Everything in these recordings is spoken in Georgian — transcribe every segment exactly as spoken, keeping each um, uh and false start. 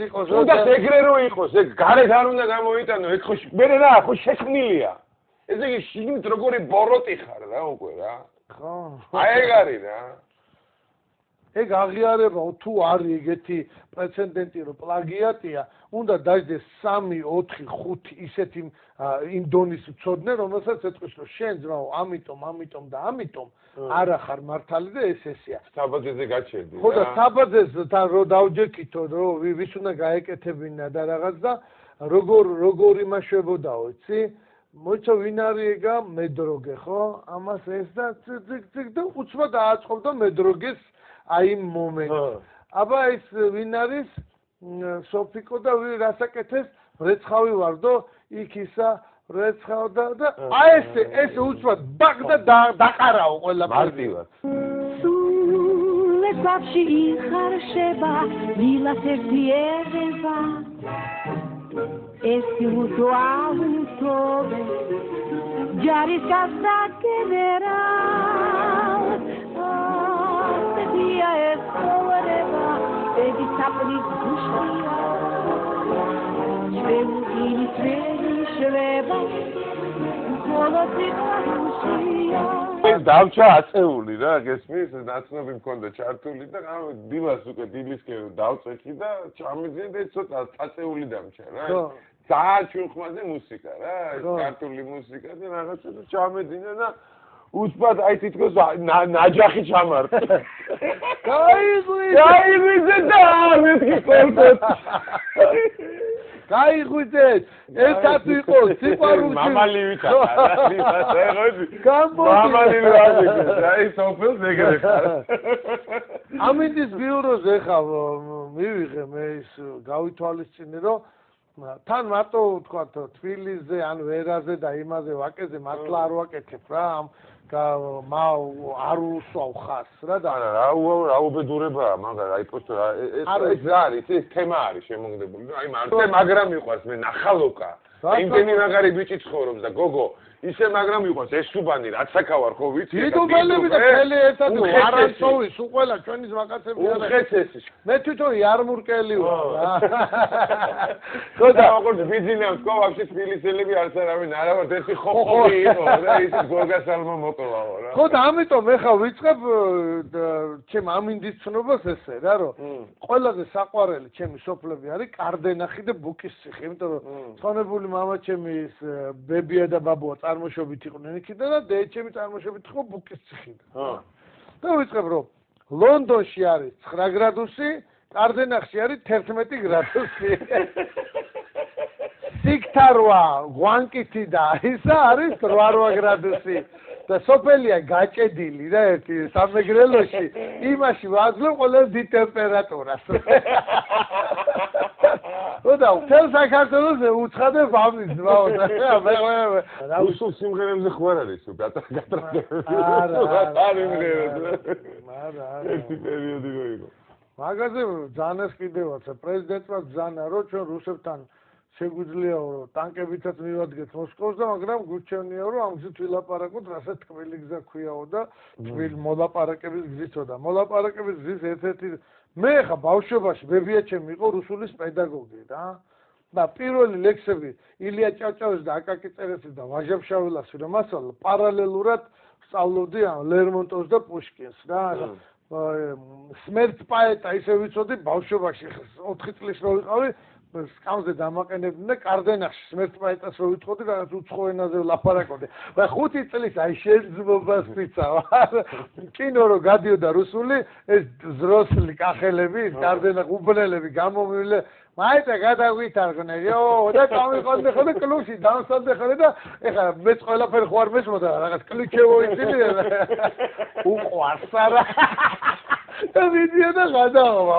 იყოს. უნდა ეგრე რო იყოს, ეგ გარეთ არ უნდა გამოიტანო, ეგ ხო მე რა, ხო შექმნილია. ესე იგი შიგნით როგორი ბოროტი ხარ რა უკვე რა. ხო. აი ეგ არის რა. ეგ აღიარება თუ არის ეგეთი პრეცედენტი რომ პლაგიატია, უნდა დაждდეს სამი, ოთხი, ხუთი ისეთი იმ დონის მცოდნე, რომელსაც ეთქვის რომ შენ ძმაო, ამიტომ, ამიტომ და ამიტომ არა ხარ მართალი და ეს ესეა. საბაძეზე გაჩერდი. ხო და საბაძესთან რო დავჯექითო, რომ ვის უნდა გაეკეთებინა და რაღაც და როგორ როგორ იმაშვებოდაო, იცი? მოიცა ვინ არის ეგა მედროგე, ხო? ამას ეს და ციგ ციგ და უცბად დააწყობდა მედროგეს აი იმ მომენტს. აბა ეს ვინ არის? სოფიკო და ვინ რასაკეთეს? რეცხავი ვარდო, იქ ისა რეცხავ და და აი ეს ეს უცბად ბაკ და დაყარაო ყველაფერი. სულ ეს ბავში იხარშება, ვილას ერთი ერება. ეს უძვალთობე ჯარის გასაგებერა ასეთია ეს ცხოვრება ედი საპნის გუშია ჩვენი ჩვენი შვება ხოლო სიყვარულია ეს დავჭა აწეული რა გესმის ნაცნობი მქონდა ჩართული და დილას უკვე დილისკენ დავწექი და ჩამეძინე და ცოტა აწეული დამჭა რა ძალიან ჩუნხმაზე მუსიკა რა ქართული მუსიკა და რაღაცა და ჩამეძინე და უსპად აი თითქოს ნაჯახი ჩამარტა გაიღვიძე გაიღვიძე და მეთქი კონცერტ გაიღვიძეთ ერთად იყო სიყვარულში მამალი ვითარა მამალი ვარდიქე აი სოფელს ეგრე ხარ ამინდის ბიუროზე ხა მივიღე მე ის გავითვალისწინე რომ თან მარტო თქვა თბილისზე ან ვერაზე და იმაზე ვაკეზე მართლა არ ვაკეთებ რა ამ მა არ უსვავ ხას რა და არა რა რა უბედურებაა მაგარ აი პოსტო ეს ეს რა არის ეს თემა არის შემოგდებული აი მარტო მაგრამ მიყვარს მე ნახალოკა იმდენი მაგარი ბიჭი ცხოვრობს და გოგო ისე მაგრამ მიყვარს ეს სუბანი რაც საკავარ ხო ვიცი დიდუბელები და ფელი ერთად არანცოვი სულ ყველა ჩვენი ზვაკაცები უხეცესი მე თვითონ იარმურკელი ვარ რა ხო და როგორც ბიზნეს ყო ვაფშე თბილისელები არც არავინ არა ვარ ერთი ხოხოი იყო და ის გოგასალმა მოკლავო რა ხო და ამიტომ ეხა ვიწყებ ჩემ ამინდის ცნობას ესე რა რომ ყველაზე საყვარელი ჩემი სოფლები არის კარდენახი და ბუკისციხე იმიტომ რომ ცხონებული მამა ჩემი ის ბებია და ბაბუა წარმოშობით იყვნენ იქიდან და დედჩემი წარმოშობით იყო ბუკისციხიდან. და ვიწყებ რომ ლონდონში არის ცხრა გრადუსი, კარდენახში არის თერთმეტი გრადუსი. სიქთარვა, გვანკითი და ისა არის რვა გრადუსი. და სოფელია გაჭედილი რა ერთი სამეგრელოში. იმაში ვაძლევ ყველაზე დიდ ტემპერატურას. და თელ საქართველოს უცხადებ ამის ძმაო და მე რა უსულ სიმღერებზე ხო არ არის გატარდება არა არა არა ერთი პერიოდი რო იყო მაგაზე ძანას კიდევაც პრეზიდენტმა ძანა რომ ჩვენ რუსებთან შეგვიძლიაო რომ ტანკებითაც მივადგეთ მოსკოვს და მაგრამ გურჩევნია რომ ამ გზით ვილაპარაკოთ რასაც თქმელი გზა ქვიაო და თბილ მოლაპარაკების გზითო და მოლაპარაკების გზის ერთ-ერთი მე ხა ბავშვობაში ბებია ჩემი იყო რუსულის პედაგოგი რა და პირველი ლექსები ილია ჭავჭავის და აკაკი წერეთლის და ვაჟა-ფშაველას რომ ასწავლა პარალელურად სწავლობდი ლერმონტოვს და პუშკინს რა სმერტ პაეტა ისე ვიცოდი ბავშვობაში ოთხი წლის რო ვიყავი სკამზე დამაყენებდნენ და კარდენახში სმერტ პაეტას რო ვითხოვდი რაღაც უცხო ენაზე ვლაპარაკობდი და ხუთი წლის აი შეძმობას ვიცავ კინო რო გადიოდა რუსული ეს ზროსლი კახელები კარდენახ უბნელები გამომივლე მაიტა გადავითარგნენ იო და წავიყვანდი ხო და კლუბში დავსადე ხო და ეხლა მეც ყველაფერი ხო არ მესმოდა რაღაც კლიქევო იცილი უყვარს არა და ვიდეო გადავა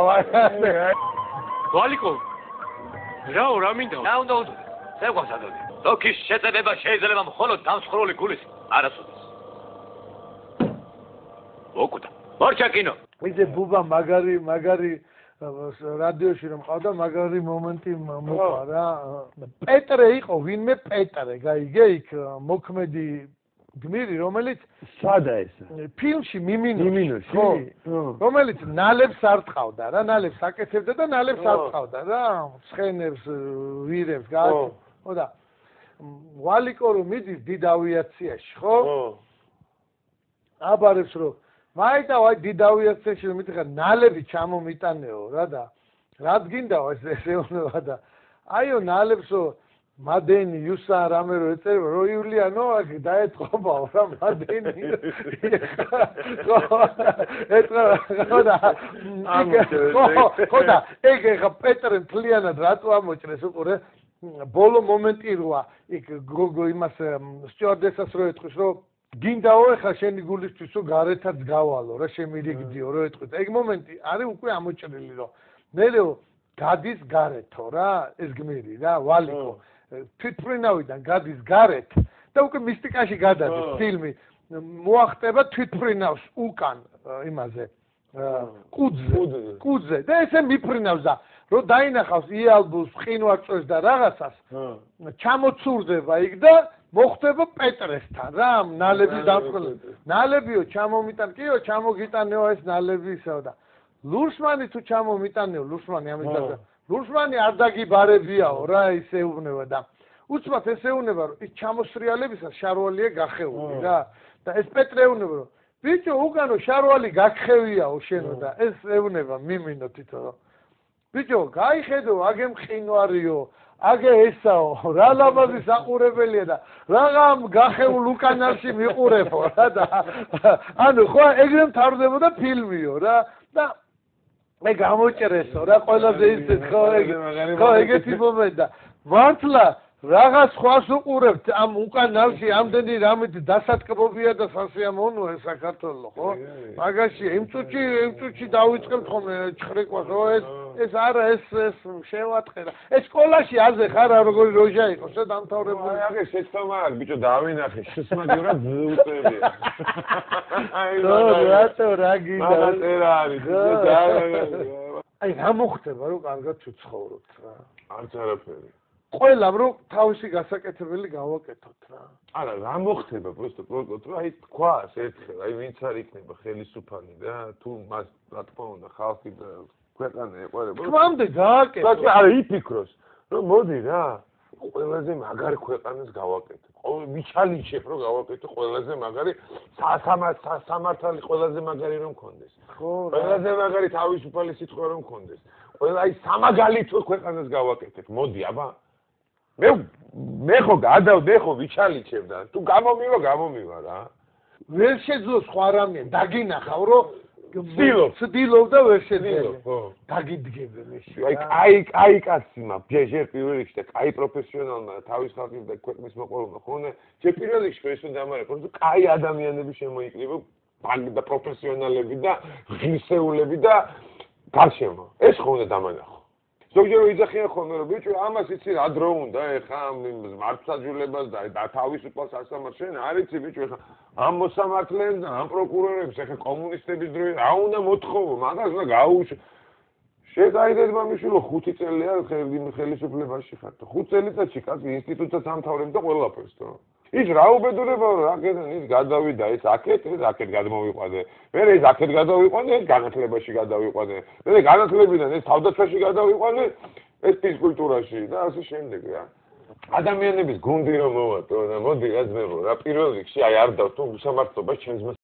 ვალიკო რაო რა მინდა რა უნდა უდო ზეგვასადოდი დოქის შეწებება შეიძლება მხოლოდ დამსხრული გულის არასოდეს ოკუდა მორჩა კინო ისე ბუბა მაგარი მაგარი რადიოში რომ ყავდა მაგარი მომენტი მოყვა რა პეტრე იყო ვინმე პეტრე გაიგე იქ მოქმედი გმირი, რომელიც სადა ეს? ფილმში მიმინოში, მიმინოში? ხო, რომელიც ნალებს არ ტყავდა რა, ნალებს აკეთებდა და ნალებს არ ტყავდა რა, ცხენებს, ვირებს, გააკეთებდა. ხო და ვალიკო რომ მიდის დიდ ავიაციაში, ხო? აბარებს რომ მაიტა ვაი დიდ ავიაციაში რომ მითხარ ნალები ჩამომიტანეო რა და რაც გინდაო ეს ესეუნება და აიო ნალებსო მადენი იუსა რამე რო ეწერება რო იულიანო აქ დაეთყობაო რა მადენი ხო ეწერა და ხო და ეგ ეხა პეტრე მთლიანად რატო ამოჭრეს უყურე ბოლო მომენტი როა იქ გოგო იმას სტიუარდესას რო ეთქვის რომ გინდაო ეხა შენი გულისთვის რომ გარეთაც გავალო რა შემირიგდიო რო ეთქვით ეგ მომენტი არის უკვე ამოჭრილი რომ მერეო გადის გარეთო რა ეს გმირი რა ვალიკო თვითმფრინავიდან გადის გარეთ და უკვე მისტიკაში გადადის ფილმი მოახტება თვითმფრინავს უკან იმაზე კუძზე კუძზე და ესე მიფრინავს და რო დაინახავს იალბუს ყინვარწვეს და რაღაცას ჩამოცურდება იქ და მოხდება პეტრესთან რა ნალების დამწყვილება ნალებიო ჩამომიტან კიო ჩამოგიტანეო ეს ნალები ისევ და ლურსმანი თუ ჩამომიტანეო ლურსმანი ამის და ლურსმანი არ დაგიბარებიაო რა ისე უნება და უცბად ესე უნება რომ ის ჩამოსრიალებისას შარვალია გახეული რა და ეს პეტრე უნება რომ ბიჭო უკანო შარვალი გაგხევიაო შენო და ეს ეუნება მიმინო თვითონ რომ ბიჭო გაიხედო აგე მყინვარიო აგე ესაო რა ლამაზი საყურებელია და რაღამ გახეულ უკანალში მიყურებო რა და ანუ ხო ეგრე მთავრდებოდა ფილმიო რა და მე გამოჭრესო რა ყველაზე ისეთ ხო ეგ ხო ეგეთი მომენტა მართლა რაღაც ხვას უყურებთ ამ უკანალში ამდენი რამით დასატკბობია და სასიამოვნოა საქართველოს ხო მაგაში იმ წუთში იმ წუთში დავიწყებთ ხოლმე ჩხრეკვას ხო ეს ეს არა ეს ეს შევატყერა ეს სკოლაში აზე ხარა როგორი როჟა იყო შე დამთავრებული აი აგე შეცდომა აქვს ბიჭო დავინახე შესმაგივრად ზუწებია აი რატო რა გინდა მაგაწერა არის აი რა მოხდება რომ კარგად ვცხოვრობთ რა არც არაფერი ყველამ რომ თავისი გასაკეთებელი გავაკეთოთ რა. არა, რა მოხდება просто პროტოტ რა აი თქვას ერთხელ, აი ვინც არ იქნება ხელისუფალი და თუ მას რა თქმა უნდა ხალხი და ქვეყანა ეყარება. თვამდე გააკეთო. და არა იფიქროს, რომ მოდი რა, ყველაზე მაგარი ქვეყანას გავაკეთე. ყოველ მიჩალიჩებ რომ გავაკეთე ყველაზე მაგარი სამართალი ყველაზე მაგარი რომ მქონდეს. ხო, ყველაზე მაგარი თავისუფალი სიტყვა რომ მქონდეს. ყველა აი სამაგალითო ქვეყანას გავაკეთებ. მოდი აბა მე მე ხო გადავდე ხო ვიჩალიჩებ და თუ გამომივა გამომივა რა ვერ შეძლო სხვა რამე დაგინახავ რომ ვცდილობ ვცდილობ და ვერ შეძლო ხო დაგიდგები მეში აი კაი კაი კაცი მა ჯერ პირველ რიგში და კაი პროფესიონალმა თავის ხალხის და ქვეყნის მოყოლმა ხონე ჯერ პირველ რიგში ეს უნდა ამარეკო რომ კაი ადამიანები შემოიკრიბო და პროფესიონალები და ღირსეულები და გარშემო ეს ხო უნდა დამანახო ზოგჯერ იძახიან ხოლმე რომ ბიჭო ამას იცი რა დრო უნდა ეხა მართლმსაჯულებას და თავისუფალ სასამართლოს შენ არ იცი ბიჭო ეხა ამ მოსამართლეებს და ამ პროკურორებს ეხა კომუნისტების დროი რა უნდა მოთხოვო მაგას უნდა გაუშვო შეგაიდეთ მამიშვილო ხუთი წელია ხელისუფლებაში ხარ ხუთ წელიწადში კაცი ინსტიტუტსაც ამთავრებ და ყველაფერს თო ის რა უბედურება რა აქედან ის გადავიდა ეს აქეთ ეს აქეთ გადმოვიყვანე მე ეს აქეთ გადავიყვანე ეს განათლებაში გადავიყვანე მე განათლებიდან ეს თავდაცვაში გადავიყვანე ეს ფიზკულტურაში და ასე შემდეგ რა ადამიანების გუნდი რომ მოვატო და მოდი რა ძმებო რა პირველ რიგში აი არ დავთო უსამართლობა ჩემს